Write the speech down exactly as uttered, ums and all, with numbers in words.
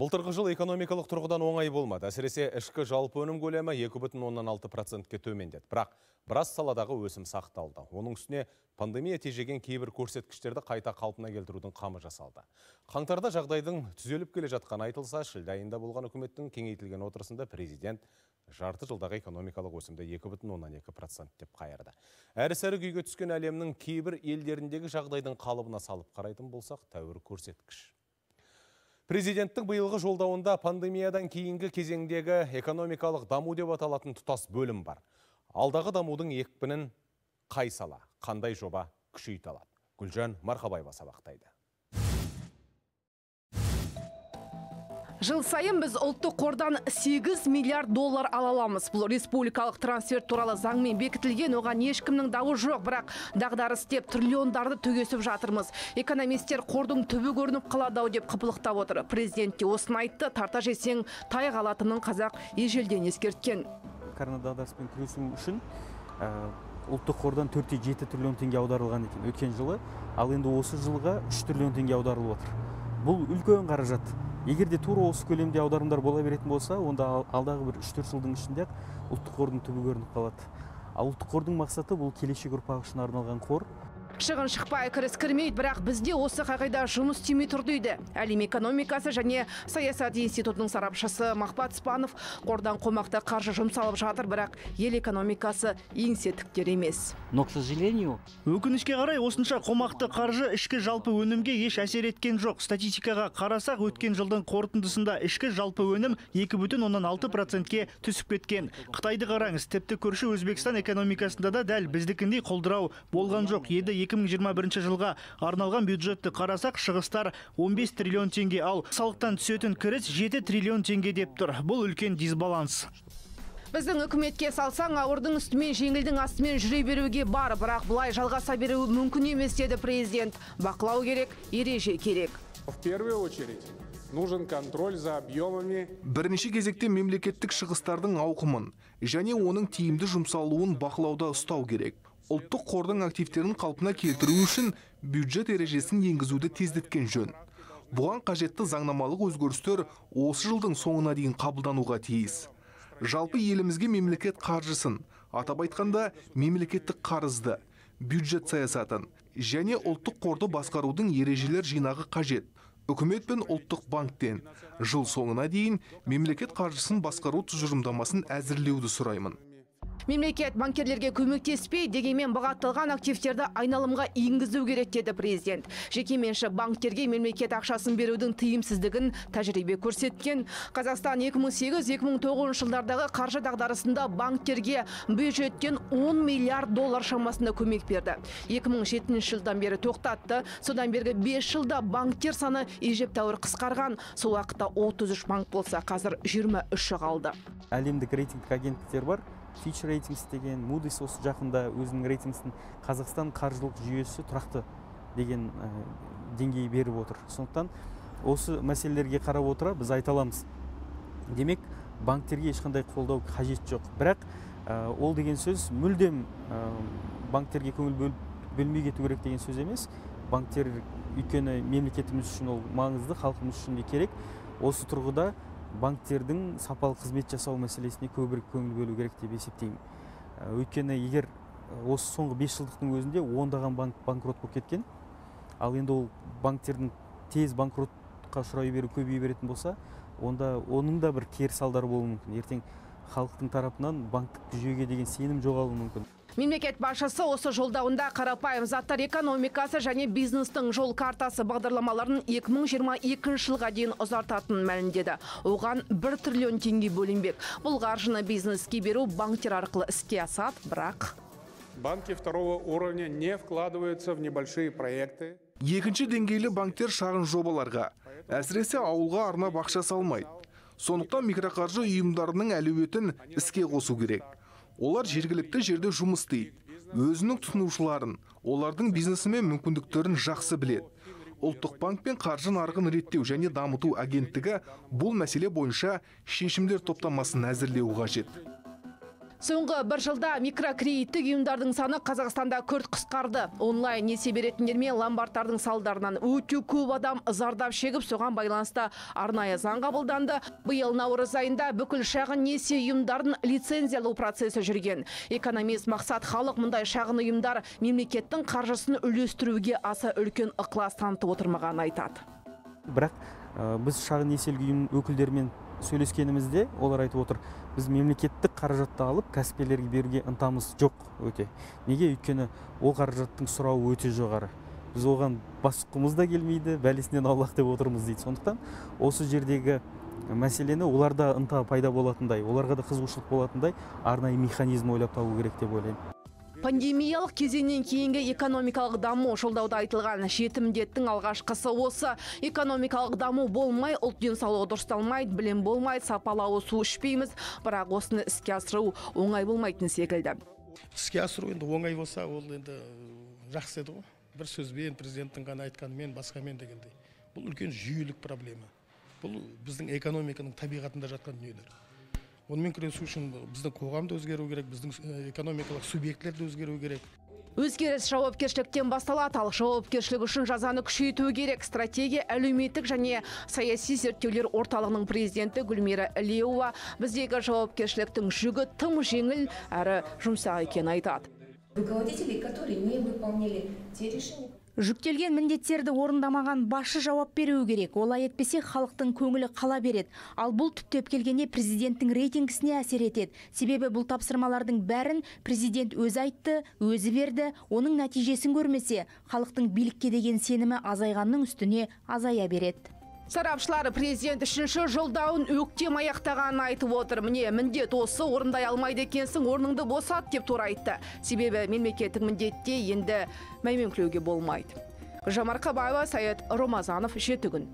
Былтырғы жыл экономикалық тұрғыдан оңай болмады. Әсіресе ішкі жалпы өнім көлемі екі бүтін оннан алты процентке төмендеді. Бірақ біраз саладағы өсім сақталды. Оның үстіне пандемия тежеген кейбір көрсеткіштерді қайта қалпына келтірудің қамы жасалды. Қаңтарда жағдайдың түзеліп келе жатқаны айтылса, шілде айында болған үкіметтің кеңейтілген отырысында президент жарты жылдағы экономикалық өсімді екі бүтін оннан екі процент деп қайырды. Әрі-сәрі күйге түскен әлемнің кейбір елдеріндегі жағдайдың қалыбына салып қарайтын болсақ, тәуір көрсеткіш. Президенттің биылғы жолдауында пандемиядан кейінгі кезеңдегі экономикалық даму деп аталатын тұтас бөлім бар. Алдағы дамудың екпінін қай сала, қандай жоба күшейте алады? Гүлжан Марқабаева сабақтайды. Жыл сайын біз ұлттық қордан сегіз миллиард доллар ала аламыз. Бұл республикалық трансферт туралы заңмен бекітілген, оған ешкімнің дауы жоқ, бірақ дағдарыс деп триллиондарды төгесіп жатырмыз. Экономистер қордың түбі көрініп қалады деп қыпылықтап отыр. Президент те осыны айтты, тарта жесең тай қалатынын қазақ ежелден ескерткен. Коронадағдарыспен күресу үшін ұлттық қордан төрт те жеті триллион теңге аударылған екен өткен жылы, ал енді осы жылға үш триллион теңге аударылып отыр. Бұл үлкен қаражат. Егер де тура осы көлемде аударымдар бола беретін болса, онда алдағы бір үш төрт жылдың ішінде ұлттық қордың түбі көрініп қалады. Ал ұлттық қордың мақсаты бұл келешек ұрпақ үшін арналған қор. Шығын шықпай кіріс кірмейді, бірақ бізде осы қағида жұмыс істемей тұр дейді. Әлем экономикасы және саясат институтының сарапшысы Махбат Спанов, қордан қомақты қаржы жұмсалып жатыр, бірақ ел экономикасы еңсе тіктер емес. Но, к сожалению, өкінішке қарай осынша қомақты қаржы ішкі жалпы өнімге еш әсер еткен жоқ. Статистикаға қарасақ, өткен жылдың қорытындысында ішкі жалпы өнім екі бүтін оннан алты процентке түсіп кеткен. Қытайды қараңыз, тіпті көрші Өзбекстан экономикасында да дәл біздікіндей құлдырау болған жоқ. Еді екі мың жиырма бірінші жылға арналған бюджетті қарасақ, шығыстар он бес триллион теңге, ал салықтан түсетін кіріс жеті триллион теңге деп тұр. Бұл үлкен дисбаланс. Біздің үкіметке салсаң, ауырдың үстімен жеңілдің астымен жүре беруге бар, бірақ бұлай жалғаса беруі мүмкін емес деді президент. Бақылау керек, ереже керек. В первую очередь нужен контроль за объемами. Бірінші кезекте мемлекеттік шығыстардың ауқымын және оның тиімді жұмсалуын бақылауда ұстау керек. Ұлттық қордың активтерін қалпына келтіру үшін бюджет ережесін енгізуді тездеткен жөн. Бұған қажетті заңнамалық өзгерістер осы жылдың соңына дейін қабылдануға тиіс. Жалпы елімізге мемлекет қаржысын, атап айтқанда мемлекеттік қарызды, бюджет саясатын және ұлттық қорды басқарудың ережелер жинағы қажет. Үкімет пен ұлттық банктен жыл соңына дейін мемлекет қаржысын басқару тұжырымдамасын әзірлеуді сұраймын. Мемлекет банкерлерге көмектеспей, дегенмен бұғатталған активтерді айналымға енгізу керек деді президент. Жекеменшік банктерге мемлекет ақшасын берудің тиімсіздігін тәжірибе көрсеткен. Қазақстан екі мың сегіз екі мың тоғызыншы жылдардағы қаржы дағдарысында банктерге бюджеттен он миллиард доллар шамасында көмек берді. екі мың жетінші жылдан бері тоқтатты. Содан бергі бес жылда банктер саны ежептәуір қысқарған. Сол уақытта отыз үш банк болса, қазір жиырма үші қалды. Әлемдік рейтингтік агенттіктер бар. Fitch Ratings деген, Moody's осы жақында өзінің рейтингісін Қазақстан қаржылық жүйесі тұрақты деген деңгей беріп отыр. Сондықтан осы мәселелерге қарап отыра біз айта аламыз. Демек, банктерге ешқандай қолдау қажет жоқ. Бірақ ол деген сөз мүлдем банктерге көңіл бөлмей кету керек деген сөз емес. Банктер өйткені мемлекетіміз үшін ол маңызды, халқымыз үшін де керек. Осы тұрғыда банктердің сапалы қызмет жасау мәселесіне көбірек көңіл бөлу керек деп есептеймін. Өйткені егер осы соңғы бес жылдықтың өзінде ондаған банк банкрот болып кеткен, ал енді ол банктердің тез банкротқа ұшырай беру көбейе беретін болса, онда оның да бір кері салдары болуы мүмкін. Ертең халықтың тарапынан банктік жүйеге деген сенім жоғалуы мүмкін. Мемлекет басшысы осы жолдауында қарапайым заттар экономикасы және бизнестің жол картасы бағдарламаларын екі мың жиырма екінші жылға дейін ұзартатынын мәлімдеді. Оған бір триллион теңге бөлінбек. Бұл қаржыны бизнеске беру банктер арқылы іске асады, бірақ банки второго уровня не вкладываются в небольшие проекты. Екінші деңгейлі банктер шағын жобаларға, әсіресе ауылға арнап ақша салмайды. Сондықтан микроқаржы ұйымдарының әлеуетін іске қосу керек. Олар жергілікті жерде жұмыс істейді. Өзінің тұтынушыларын, олардың бизнесі мен мүмкіндіктерін жақсы біледі. Ұлттық банк пен қаржы нарығын реттеу және дамыту агенттігі бұл мәселе бойынша шешімдер топтамасын әзірлеу қажет. Соңғы бір жылда микрокредиттік ұйымдардың саны Қазақстанда күрт қысқарды. Онлайн несие беретіндер мен ломбардтардың салдарынан өте көп адам зардап шегіп, соған байланысты арнайы заң қабылданды. Биыл наурыз айында бүкіл шағын несие ұйымдарын лицензиялау процесі жүрген. Экономист Мақсат Халық мұндай шағын ұйымдар мемлекеттің қаржысын үлестіруге аса үлкен ықылас танытып отырмағанын айтады. Бірақ біз шағын несиелік ұйым өкілдерімен сөйлескенімізде олар айтып отыр, біз мемлекеттік қаражатты алып кәсіпкерлерге беруге ынтамыз жоқ өте. Неге? Өйткені ол қаражаттың сұрауы өте жоғары. Біз оған бас сұққымыз да келмейді, бәлесінен аулақ деп отырмыз дейді. Сондықтан осы жердегі мәселені оларда ынта пайда болатындай, оларға да қызығушылық болатындай арнайы механизм ойлап табу керек деп ойлаймын. Пандемиялық кезеңнен кейінгі экономикалық даму жолдауда айтылған жеті міндеттің алғашқысы осы. Экономикалық даму болмай, ұлт денсаулығы дұрысталмайды, білім болмайды, сапалы су ішпейміз, бірақ осыны іске асыру оңай болмайтын секілді. Іске асыру енді оңай болса, ол енді жақсы еді ғой. Бір сөзбен, президенттің ғана айтқанымен, басқамен дегендей. Бұл үлкен жүйелік проблема. Бұл біздің экономиканың табиғатында жатқан дүниелер. Онымен күресу үшін біздің қоғамда өзгеру керек, біздің экономикалық субъектлерді өзгеру керек. Өзгеріс жауапкершіліктен басталады, ал жауапкершілік үшін жазаны күшейту керек. Стратегия әлеуметтік және саяси зерттеулер орталығының президенті Гүлмира Ілеуова біздегі жауапкершіліктің жүгі тым жеңіл әрі жұмсақ екенін айтады. Руководители, которые не выполнили те решения. Жүктелген міндеттерді орындамаған басшы жауап беруі керек. Олай етпесе халықтың көңілі қала береді. Ал бұл түптеп келгенде президенттің рейтингісіне әсер етеді. Себебі бұл тапсырмалардың бәрін президент өзі айтты, өзі берді. Оның нәтижесін көрмесе, халықтың билікке деген сенімі азайғанның үстіне азая береді. Сарапшылар президент үшінші жолдауын өктем аяқтағанын айтып отыр. Міне, міндет осы, орындай алмайды екенсің, орныңды босат деп тура айтты. Себебі мемлекеттік міндетте енді мәймөңкілеуге болмайды. Гүлжан Марқабаева, Саят Ромазанов, Жеті күн.